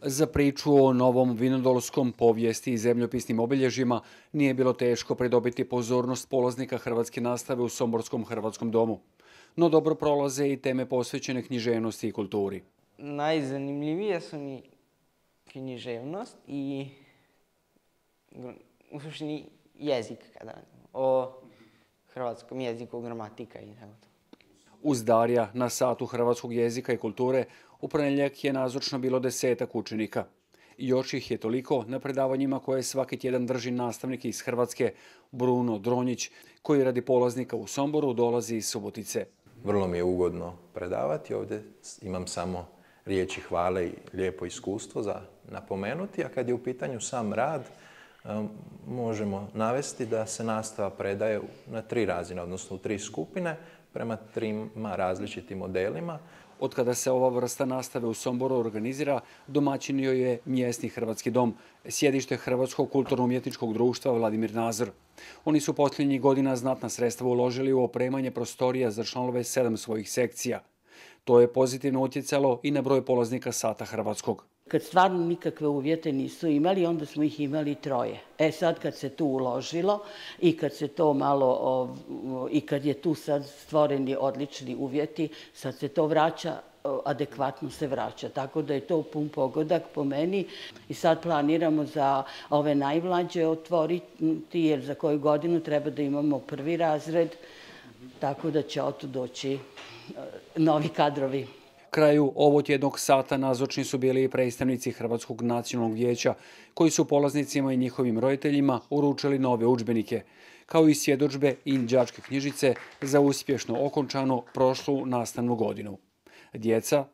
Za priču o Novom Vinodolskom, povijesti i zemljopisnim obilježjima nije bilo teško pridobiti pozornost polaznika hrvatske nastave u Somborskom hrvatskom domu. No dobro prolaze i teme posvećene književnosti i kulturi. Najzanimljivije su mi književnost i u suštini jezik, o hrvatskom jeziku, gramatika i tako to. Uz Darija na satu hrvatskog jezika i kulture u ponedjeljak je nazočno bilo 10 učenika. Još ih je toliko na predavanjima koje svaki tjedan drži nastavnik iz Hrvatske Bruno Dronjić, koji radi polaznika u Somboru dolazi iz Subotice. Vrlo mi je ugodno predavati. Ovdje imam samo riječi hvale i lijepo iskustvo za napomenuti, a kad je u pitanju sam rad, možemo navesti da se nastava predaje na 3 razine, odnosno u 3 skupine, prema 3 različitim modelima. Od kada se ova vrsta nastave u Somboru organizira, domaćin joj je mjesni hrvatski dom, sjedište Hrvatskog kulturno-umjetničkog društva Vladimir Nazor. Oni su posljednjih godina znatna sredstva uložili u opremanje prostorija za članove 7 svojih sekcija. To je pozitivno utjecalo i na broj polaznika sata hrvatskog. Kad stvarno nikakve uvjete nisu imali, onda smo ih imali 3. Sad kad se tu uložilo i kad se to malo, i kad je tu sad stvoreni odlični uvjeti, sad se to vraća, adekvatno se vraća. Tako da je to pun pogodak po meni. I sad planiramo za ove najmlađe otvoriti, jer za koju godinu treba da imamo 1. razred, tako da će od tu doći novi kadrovi. Kraju ovog tjednog sata nazočni su bili i predstavnici Hrvatskog nacionalnog vijeća, koji su polaznicima i njihovim roditeljima uručili nove udžbenike, kao i svjedodžbe i đačke knjižice za uspješno okončanu prošlu nastavnu godinu. Djeca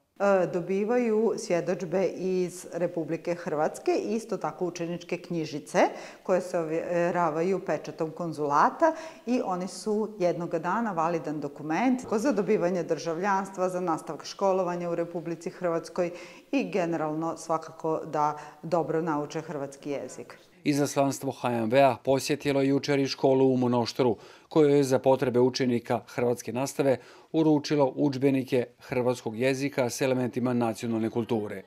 dobivaju svjedodžbe iz Republike Hrvatske, isto tako učeničke knjižice koje se ovjeravaju pečatom konzulata i oni su jednoga dana validan dokument za dobivanje državljanstva, za nastavak školovanja u Republici Hrvatskoj i generalno svakako da dobro nauče hrvatski jezik. Izaslanstvo HMV-a posjetilo je jučer i školu u Monoštoru, kojoj je za potrebe učenika hrvatske nastave uručilo udžbenike hrvatskog jezika s elementima nacionalne kulture.